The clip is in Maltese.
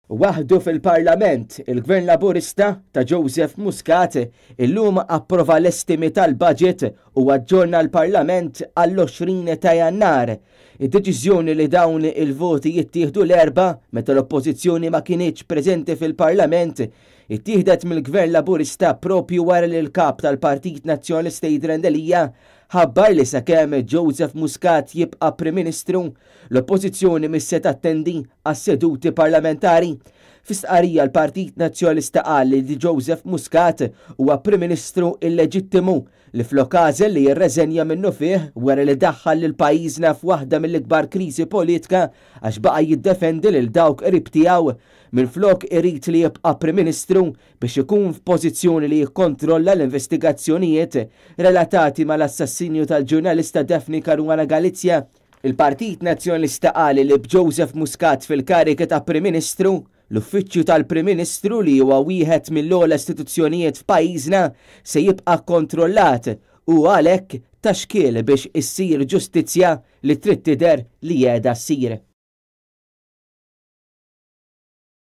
Waħdu fil-Parlament, il-Gvern Laburista ta' Joseph Muscat illum approva l-estimi tal-budget u aġġorna l-Parlament għall-20 ta' Jannar. Id-deċiżjoni li dawn il-voti jittieħdu l-Erbgħa, meta l-Oppożizzjoni ma kinitx preżenti fil-Parlament, ittieħdet mill-Gvern Laburista proprju wara li l-Kap tal-Partit Nazzjonalista Adrian Delia ħabbar li sakemm Joseph Muscat jibqa' Prim Ministru, l-Oppożizzjoni mhix se tattendi għas-seduti parlamentari. Fi stqarrija l-Partit Nazzjonalista qal li Joseph Muscat huwa Prim Ministru illeġittimu li flok għażel li jirreżenja minnufih wara li daħħal lil pajjiżna f'waħda mill-ikbar kriżi politka għax baqa' jiddefendi lil dawk qrib tiegħu minflok irid li jibqa' Prim Ministru biex ikun f'pożizzjoni li jikkontrolla l-investigazzjonijiet relatati mal-assassinju tal-ġurnalista Daphne Caruana Galizia. Il-Partit Nazzjonalista qal li b'Joseph Muscat fil-kariga ta' Prim Ministru, l-Uffiċċju tal-Prim Ministru li huwa wieħed mill-ogħla istituzzjonijiet f'pajjiżna se jibqa' kkontrollat u għalhekk ta' xkiel biex issir ġustizzja li trid tidher li qiegħda ssir.